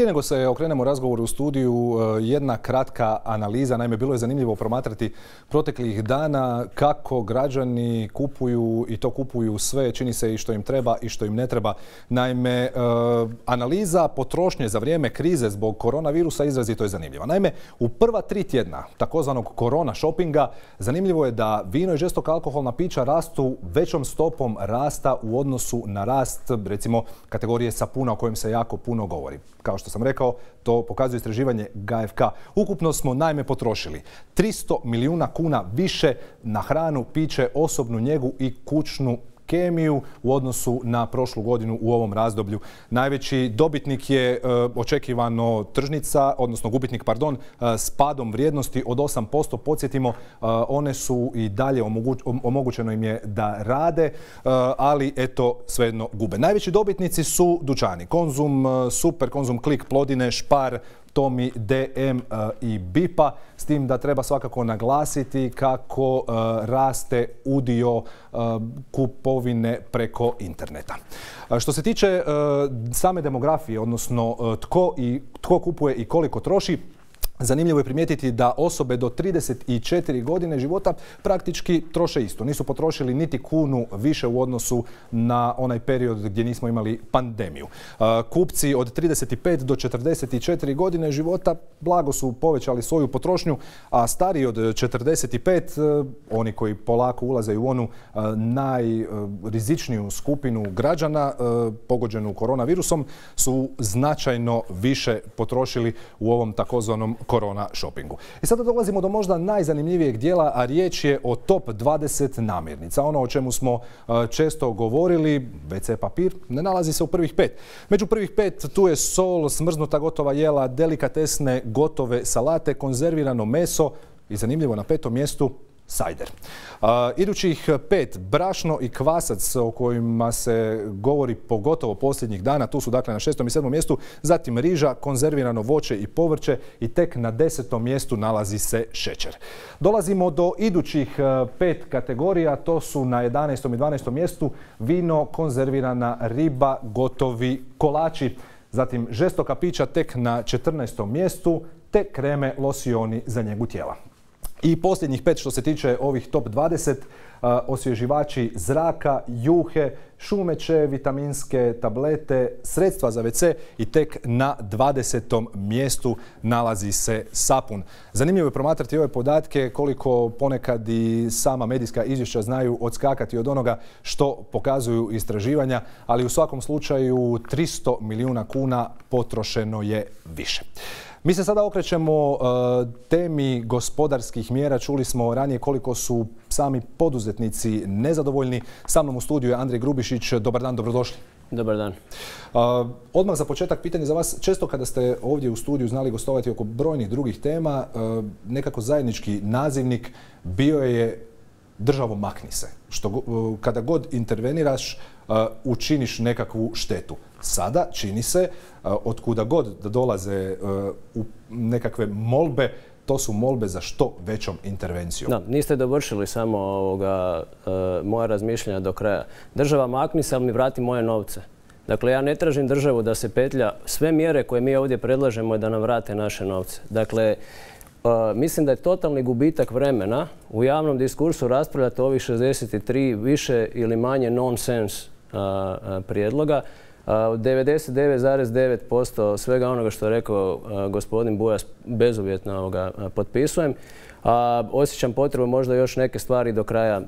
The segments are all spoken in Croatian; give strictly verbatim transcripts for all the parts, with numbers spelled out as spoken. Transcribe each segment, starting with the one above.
Prije nego se okrenemo razgovoru u studiju, jedna kratka analiza. Naime, bilo je zanimljivo promatrati proteklih dana kako građani kupuju i to kupuju sve, čini se i što im treba i što im ne treba. Naime, analiza potrošnje za vrijeme krize zbog koronavirusa izrazito je zanimljiva. Naime, u prva tri tjedna takozvanog korona shoppinga zanimljivo je da vino i žestoka alkoholna pića rastu većom stopom rasta u odnosu na rast, recimo, kategorije sapuna o kojem se jako puno govori. Kao što sam rekao, to pokazuje istraživanje G A F K. Ukupno smo naime potrošili tristo milijuna kuna više na hranu, piće, osobnu njegu i kućnu kemiju u odnosu na prošlu godinu u ovom razdoblju. Najveći dobitnik je e, očekivano tržnica, odnosno gubitnik, pardon, e, s padom vrijednosti od osam posto. Podsjetimo, e, one su i dalje omoguć, omogućeno im je da rade, e, ali eto svejedno gube. Najveći dobitnici su dućani. Konzum, Super, Konzum Klik, Plodine, Špar, Tomi, D M i Bipa, s tim da treba svakako naglasiti kako uh, raste udio uh, kupovine preko interneta. Uh, što se tiče uh, same demografije, odnosno uh, tko, i, tko kupuje i koliko troši, zanimljivo je primijetiti da osobe do trideset četiri godine života praktički troše isto. Nisu potrošili niti kunu više u odnosu na onaj period gdje nismo imali pandemiju. Kupci od trideset pet do četrdeset četiri godine života blago su povećali svoju potrošnju, a stariji od četrdeset pet, oni koji polako ulaze u onu najrizičniju skupinu građana pogođenu koronavirusom, su značajno više potrošili u ovom takozvanom korona shoppingu. I sada dolazimo do možda najzanimljivijeg dijela, a riječ je o top dvadeset namirnica. Ono o čemu smo često govorili, ve ce papir, ne nalazi se u prvih pet. Među prvih pet tu je sol, smrznuta gotova jela, delikatesne gotove salate, konzervirano meso i zanimljivo na petom mjestu sajder. Uh, idućih pet, brašno i kvasac o kojima se govori pogotovo posljednjih dana, tu su dakle na šestom i sedmom mjestu, zatim riža, konzervirano voće i povrće i tek na desetom mjestu nalazi se šećer. Dolazimo do idućih uh, pet kategorija, to su na jedanaestom i dvanaestom mjestu vino, konzervirana riba, gotovi kolači, zatim žestoka pića tek na četrnaestom mjestu, te kreme, losioni za njegu tijela. I posljednjih pet što se tiče ovih top dvadeset, uh, osvježivači zraka, juhe, šumeće, vitaminske tablete, sredstva za ve ce i tek na dvadesetom mjestu nalazi se sapun. Zanimljivo je promatrati ove podatke koliko ponekad i sama medijska izvješća znaju odskakati od onoga što pokazuju istraživanja, ali u svakom slučaju tristo milijuna kuna potrošeno je više. Mi se sada okrećemo uh, temi gospodarskih mjera. Čuli smo ranije koliko su sami poduzetnici nezadovoljni. Sa mnom u studiju je Andrej Grubišić. Dobar dan, dobrodošli. Dobar dan. Uh, odmah za početak pitanje za vas. Često kada ste ovdje u studiju znali gostovati oko brojnih drugih tema, uh, nekako zajednički nazivnik bio je državo makni se. Što, uh, kada god interveniraš, uh, učiniš nekakvu štetu. Sada čini se, od kuda god da dolaze u nekakve molbe, to su molbe za što većom intervencijom. Da, niste dovršili samo ovoga, moja razmišljanja do kraja. Država makni se, ali mi vrati moje novce. Dakle, ja ne tražim državu da se petlja. Sve mjere koje mi ovdje predlažemo je da nam vrate naše novce. Dakle, mislim da je totalni gubitak vremena u javnom diskursu raspravljati o ovih šezdeset tri više ili manje nonsens prijedloga. devedeset devet zarez devet posto svega onoga što je rekao gospodin Bujas bezuvjetno ovoga potpisujem. Osjećam potrebu možda još neke stvari do kraja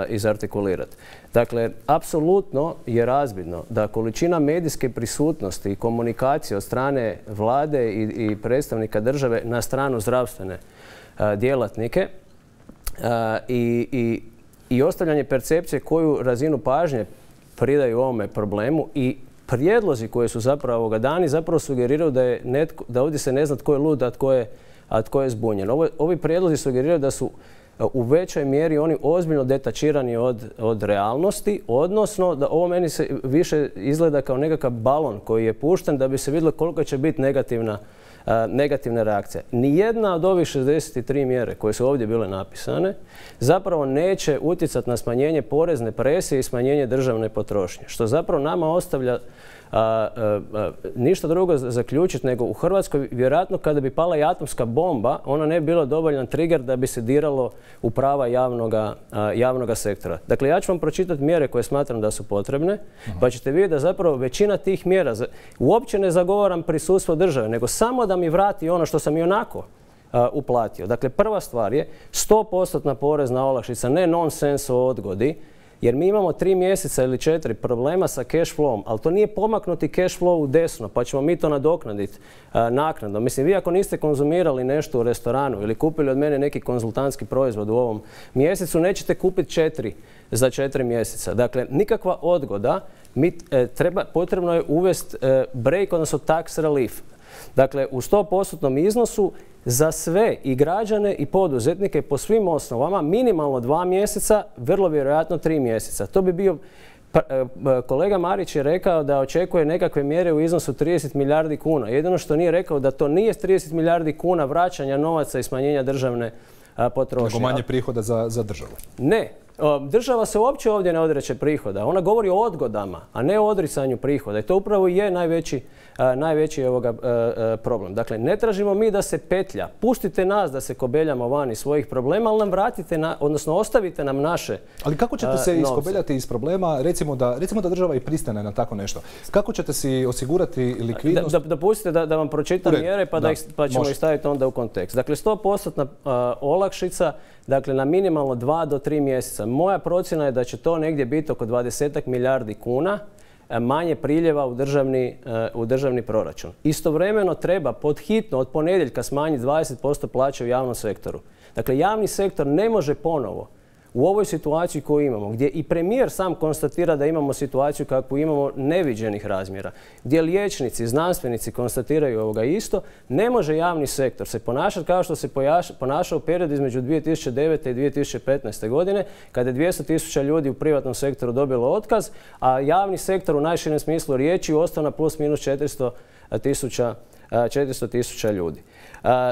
izartikulirati. Dakle, apsolutno je razvidno da količina medijske prisutnosti i komunikacije od strane vlade i, i predstavnika države na stranu zdravstvene djelatnike i, i, i ostavljanje percepcije koju razinu pažnje pridaju ovome problemu i prijedlozi koji su zapravo dani zapravo sugeriraju da, je netko, da ovdje se ne zna tko je lud, a tko je, a tko je zbunjen. Ovo, ovi prijedlozi sugeriraju da su u većoj mjeri oni ozbiljno detačirani od, od realnosti, odnosno da ovo meni se više izgleda kao nekakav balon koji je pušten da bi se vidjelo koliko će biti negativna, uh, negativna reakcija. Nijedna od ovih šezdeset tri mjere koje su ovdje bile napisane zapravo neće utjecati na smanjenje porezne presije i smanjenje državne potrošnje, što zapravo nama ostavlja a, a, a, ništa drugo zaključiti nego u Hrvatskoj vjerojatno kada bi pala i atomska bomba, ona ne bi bila dovoljan trigger da bi se diralo u prava javnoga, a, javnoga sektora. Dakle, ja ću vam pročitati mjere koje smatram da su potrebne, uh-huh. pa ćete vidjeti da zapravo većina tih mjera, uopće ne zagovaram prisustvo države, nego samo da mi vrati ono što sam i onako uh, uplatio. Dakle, prva stvar je sto posto porezna olakšica, ne nonsens o odgodi, jer mi imamo tri mjeseca ili četiri problema sa cash flowom, ali to nije pomaknuti cash flow u desno, pa ćemo mi to nadoknaditi uh, naknadno. Mislim, vi ako niste konzumirali nešto u restoranu ili kupili od mene neki konzultantski proizvod u ovom mjesecu, nećete kupiti četiri za četiri mjeseca. Dakle, nikakva odgoda, mi, e, treba, potrebno je uvesti e, break, odnosno tax relief. Dakle, u sto posto iznosu za sve i građane i poduzetnike po svim osnovama minimalno dva mjeseca, vrlo vjerojatno tri mjeseca. To bi bio, pa, e, kolega Marić je rekao da očekuje nekakve mjere u iznosu trideset milijardi kuna. Jedino što nije rekao da to nije trideset milijardi kuna vraćanja novaca i smanjenja državne a, potrošnje. Nego manje prihoda za, za državu. Ne. Država se uopće ovdje ne odreće prihoda. Ona govori o odgodama, a ne o odricanju prihoda. I to upravo je najveći, a, najveći ovoga, a, a, problem. Dakle, ne tražimo mi da se petlja. Pustite nas da se kobeljamo van iz svojih problema, ali nam vratite, na, odnosno ostavite nam naše Ali kako ćete se a, iskobeljati iz problema, recimo da, recimo da država i pristane na tako nešto? Kako ćete si osigurati likvidnost? Da, da, dopustite da, da vam pročitam mjere pa, da, da ih, pa ćemo ih staviti onda u kontekst. Dakle, sto posto olakšica, dakle, na minimalno dva do tri mjeseca. Moja procjena je da će to negdje biti oko dvadeset milijardi kuna manje priljeva u državni, u državni proračun. Istovremeno treba pod hitno od ponedjeljka smanjiti dvadeset posto plaće u javnom sektoru. Dakle, javni sektor ne može ponovo u ovoj situaciji koju imamo, gdje i premijer sam konstatira da imamo situaciju kakvu imamo neviđenih razmjera, gdje liječnici, znanstvenici konstatiraju ovoga isto, ne može javni sektor se ponašati kao što se ponašao u periodu između dvije tisuće devete i dvije tisuće petnaeste. godine, kada je dvjesto tisuća ljudi u privatnom sektoru dobilo otkaz, a javni sektor u najširem smislu riječi ostao na plus minus četiristo tisuća ljudi.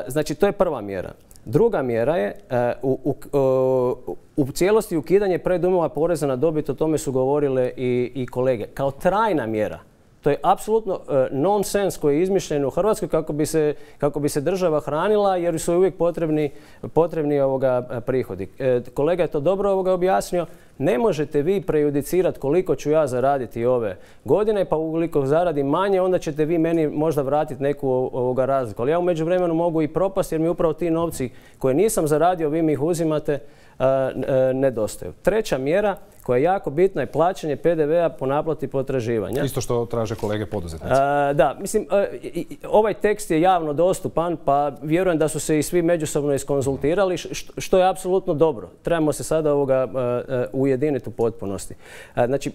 Znači, to je prva mjera. Druga mjera je u, u, u, u cijelosti ukidanje predujmova poreza na dobit, o tome su govorile i, i kolege. Kao trajna mjera. To je apsolutno uh, nonsens koji je izmišljen u Hrvatskoj kako bi se, kako bi se država hranila jer su uvijek potrebni, potrebni ovoga prihodi. E, kolega je to dobro ovoga objasnio. Ne možete vi prejudicirati koliko ću ja zaraditi ove godine, pa ukoliko zaradim manje, onda ćete vi meni možda vratiti neku ovoga razliku. Ali ja u međuvremenu mogu i propasti jer mi upravo ti novci koje nisam zaradio, vi mi ih uzimate, uh, uh, nedostaju. Treća mjera koja je jako bitna je plaćanje P D V-a po naplati potraživanja. Isto što traže kolege poduzetnici. Uh, da, mislim, uh, ovaj tekst je javno dostupan, pa vjerujem da su se i svi međusobno iskonzultirali, što, što je apsolutno dobro. Trebamo se sada ovoga uh, uh, ujediniti u potpunosti. Uh, znači,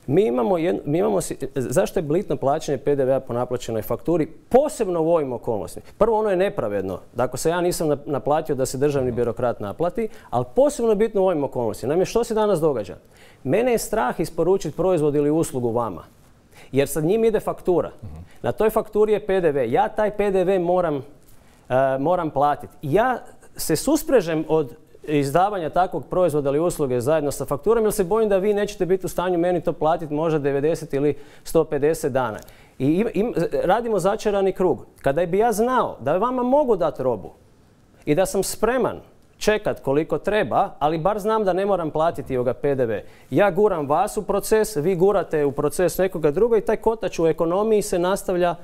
mi imamo, jedno, mi imamo, zašto je bitno plaćanje P D V-a po naplaćenoj fakturi, posebno u ovim okolnostima? Prvo, ono je nepravedno. Dakle, se ja nisam naplatio da se državni birokrat naplati, ali posebno je bitno u ovim okolnostima. Naime, što se danas događa? Mene je strah isporučiti proizvod ili uslugu vama, jer sad njim ide faktura. Na toj fakturi je P D V. Ja taj P D V moram, uh, moram platiti. Ja se susprežem od izdavanja takvog proizvoda ili usluge zajedno sa fakturom, jer se bojim da vi nećete biti u stanju meni to platiti možda devedeset ili sto pedeset dana. I im, im, radimo začarani krug. Kada bi ja znao da vama mogu dati robu i da sam spreman čekat koliko treba, ali bar znam da ne moram platiti ovoga P D V. Ja guram vas u proces, vi gurate u proces nekoga druga i taj kotač u ekonomiji se nastavlja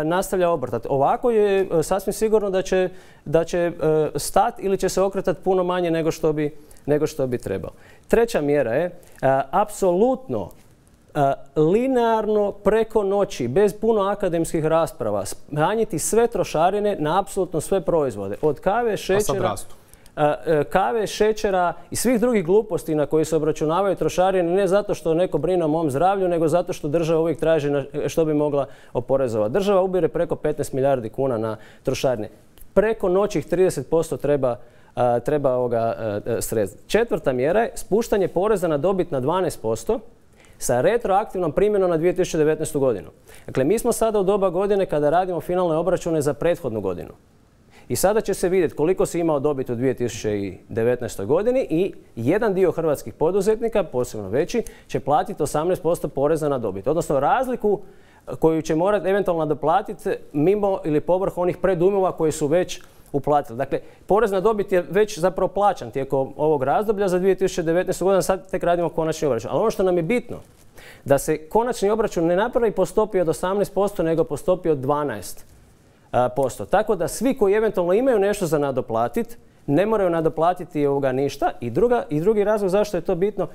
nastavlja obrtati. Ovako je sasvim sigurno da će, da će stati ili će se okretati puno manje nego što bi, nego što bi trebalo. Treća mjera je apsolutno linearno preko noći, bez puno akademskih rasprava, smanjiti sve trošarine na apsolutno sve proizvode. Od kave, šećera, kave, šećera i svih drugih gluposti na koje se obračunavaju trošarine, ne zato što neko brine o mom zdravlju, nego zato što država uvijek traži što bi mogla oporezovati. Država ubire preko petnaest milijardi kuna na trošarine. Preko noći ih trideset posto treba, treba ovoga sredstva. Četvrta mjera je spuštanje poreza na dobit na dvanaest posto sa retroaktivnom primjenom na dvije tisuće devetnaestu. godinu. Dakle, mi smo sada u doba godine kada radimo finalne obračune za prethodnu godinu. I sada će se vidjeti koliko si imao dobit u dvije tisuće devetnaestoj. godini i jedan dio hrvatskih poduzetnika, posebno veći, će platiti osamnaest posto poreza na dobit. Odnosno razliku koju će morati eventualno nadoplatiti mimo ili povrh onih predujmova koji su već uplatili. Dakle, porez na dobit je već zapravo plaćan tijekom ovog razdoblja za dvije tisuće devetnaestu. godinu, sad tek radimo konačni obračun. Ali ono što nam je bitno, da se konačni obračun ne napravi po stopi od osamnaest posto, nego po stopi od dvanaest posto. Tako da svi koji eventualno imaju nešto za nadoplatiti, ne moraju nadoplatiti ovoga ništa. I, druga, i drugi razlog zašto je to bitno,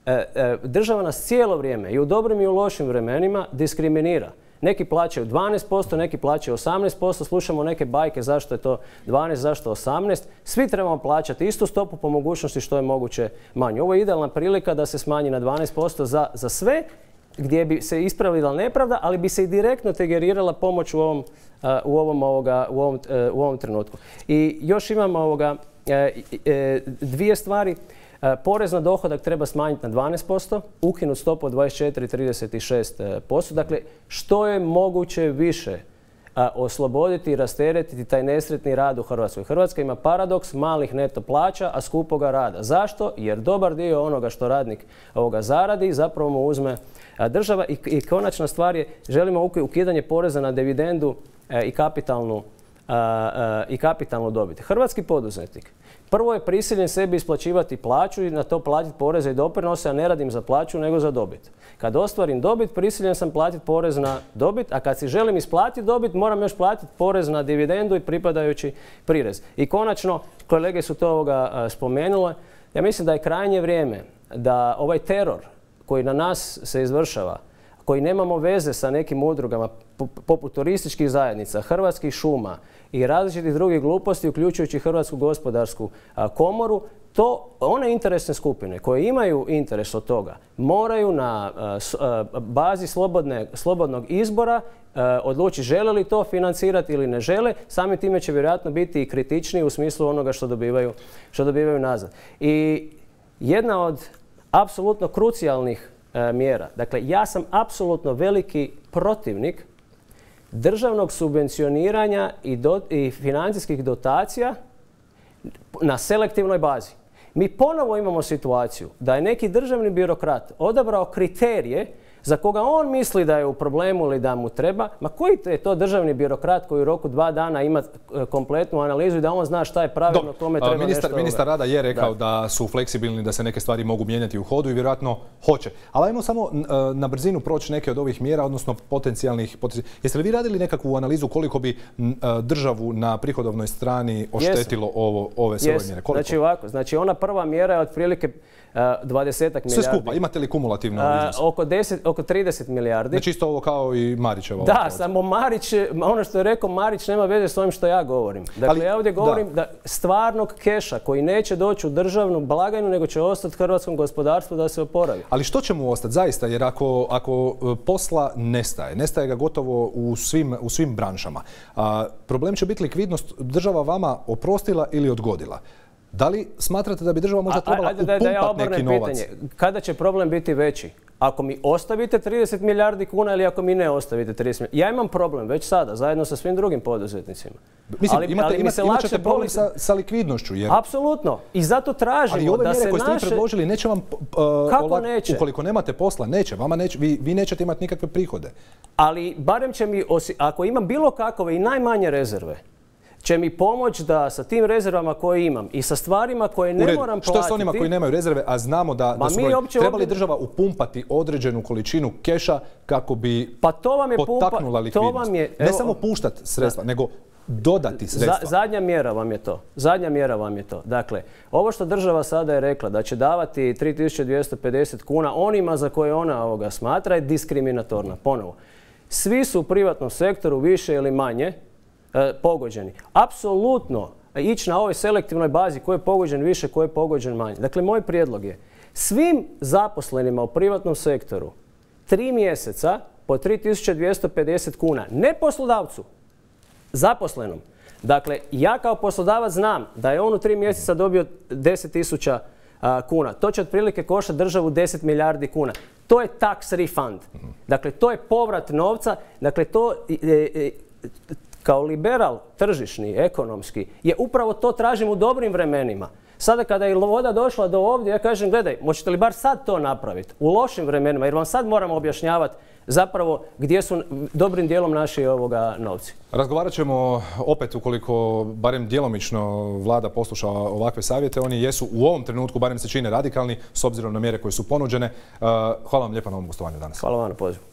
e, e, država nas cijelo vrijeme i u dobrim i u lošim vremenima diskriminira. Neki plaćaju dvanaest posto, neki plaćaju osamnaest posto, slušamo neke bajke zašto je to dvanaest, zašto osamnaest. Svi trebamo plaćati istu stopu, po mogućnosti što je moguće manje. Ovo je idealna prilika da se smanji na dvanaest posto za, za sve, gdje bi se ispravila nepravda, ali bi se i direktno tegerirala pomoć u ovom, uh, u ovom, ovoga, u ovom, uh, u ovom trenutku. I još imamo ovoga, uh, uh, dvije stvari. Uh, porez na dohodak treba smanjiti na dvanaest posto, ukinuti stopu od dvadeset četiri, trideset šest posto. Dakle, što je moguće više a, osloboditi i rasteretiti taj nesretni rad u Hrvatskoj. Hrvatska ima paradoks malih neto plaća, a skupoga rada. Zašto? Jer dobar dio onoga što radnik ovoga zaradi zapravo mu uzme a, država. I, I konačna stvar je, želimo ukidanje poreza na dividendu a, i, kapitalnu, a, a, i kapitalnu dobit. Hrvatski poduzetnik prvo je prisiljen sebi isplaćivati plaću i na to platiti poreze i doprinose, a ne radim za plaću nego za dobit. Kad ostvarim dobit, prisiljen sam platiti porez na dobit, a kad si želim isplatiti dobit, moram još platiti porez na dividendu i pripadajući prirez. I konačno, kolege su to ovoga spomenule, ja mislim da je krajnje vrijeme da ovaj teror koji na nas se izvršava, koji nemamo veze sa nekim udrugama poput turističkih zajednica, Hrvatskih šuma i različitih drugih gluposti, uključujući Hrvatsku gospodarsku komoru, to one interesne skupine koje imaju interes od toga moraju na bazi slobodne, slobodnog izbora odlučiti žele li to financirati ili ne žele. Samim time će vjerojatno biti i kritičniji u smislu onoga što dobivaju, što dobivaju nazad. I jedna od apsolutno krucijalnih mjera. Dakle, ja sam apsolutno veliki protivnik državnog subvencioniranja i, do, i financijskih dotacija na selektivnoj bazi. Mi ponovo imamo situaciju da je neki državni birokrat odabrao kriterije za koga on misli da je u problemu ili da mu treba. Ma koji je to državni birokrat koji u roku dva dana ima kompletnu analizu i da on zna šta je pravilno, kome treba ministar, nešto... Ministar rada je rekao da. da su fleksibilni, da se neke stvari mogu mijenjati u hodu i vjerojatno hoće. Ali ajmo samo na brzinu proći neke od ovih mjera, odnosno potencijalnih... potencijalnih. Jeste li vi radili nekakvu analizu koliko bi državu na prihodovnoj strani oštetilo ovo, ove sve ove mjere? Koliko? Znači ovako, znači ona prva mjera je otprilike dvadesetak milijardi. Sve skupa, imate li kumulativno iznos? Oko, deset, oko trideset milijardi. Znači isto ovo kao i Marićevo. Da, samo Marić, ono što je rekao Marić nema veze s ovim što ja govorim. Dakle, ali, ja ovdje govorim da. da stvarnog keša koji neće doći u državnu blagajnu, nego će ostati hrvatskom gospodarstvu da se oporavi. Ali što će mu ostati zaista? Jer ako, ako posla nestaje, nestaje ga gotovo u svim, u svim branšama. A, problem će biti likvidnost. Država vama oprostila ili odgodila? Da li smatrate da bi država možda trebala upumpati ja neki novac? Pitanje. Kada će problem biti veći? Ako mi ostavite trideset milijardi kuna ili ako mi ne ostavite trideset milijardi? Ja imam problem već sada, zajedno sa svim drugim poduzetnicima. Mislim, ali, imate, ali imate, imat ćete problem poli... sa, sa likvidnošću. Jer... Apsolutno. I zato tražimo ali ove da mjere se koje ste naše... predložili neće vam... Uh, Kako olak... neće? Ukoliko nemate posla, neće. Vama neće. Vi, vi nećete imati nikakve prihode. Ali barem će mi, osi... ako imam bilo kakove i najmanje rezerve, će mi pomoći da sa tim rezervama koje imam i sa stvarima koje ne moram platiti... Što s onima koji nemaju rezerve, a znamo da, da su broj... Treba li država upumpati određenu količinu keša kako bi pa to vam je potaknula pumpa, likvidnost? To vam je, ne evo, samo puštati sredstva, da, nego dodati sredstva. Za, zadnja mjera vam je to. Zadnja mjera vam je to. Dakle, ovo što država sada je rekla da će davati tri tisuće dvjesto pedeset kuna onima za koje ona ovoga smatra je diskriminatorna. Ponovo. Svi su u privatnom sektoru više ili manje pogođeni. Apsolutno ići na ovoj selektivnoj bazi ko je pogođen više, ko je pogođen manje. Dakle, moj prijedlog je svim zaposlenima u privatnom sektoru tri mjeseca po tri tisuće dvjesto pedeset kuna, ne poslodavcu, zaposlenom. Dakle, ja kao poslodavac znam da je on u tri mjeseca dobio deset tisuća kuna. To će otprilike koštati državu deset milijardi kuna. To je tax refund. Dakle, to je povrat novca. Dakle, to... E, e, kao liberal, tržišni, ekonomski, je upravo to tražim u dobrim vremenima. Sada kada je voda došla do ovdje, ja kažem, gledaj, možete li bar sad to napraviti u lošim vremenima, jer vam sad moramo objašnjavati zapravo gdje su dobrim dijelom naši ovoga novci. Razgovarat ćemo opet, ukoliko barem djelomično vlada posluša ovakve savjete. Oni jesu u ovom trenutku, barem se čine radikalni, s obzirom na mjere koje su ponuđene. Hvala vam lijepa na ovom gostovanju danas. Hvala vam na pozivu.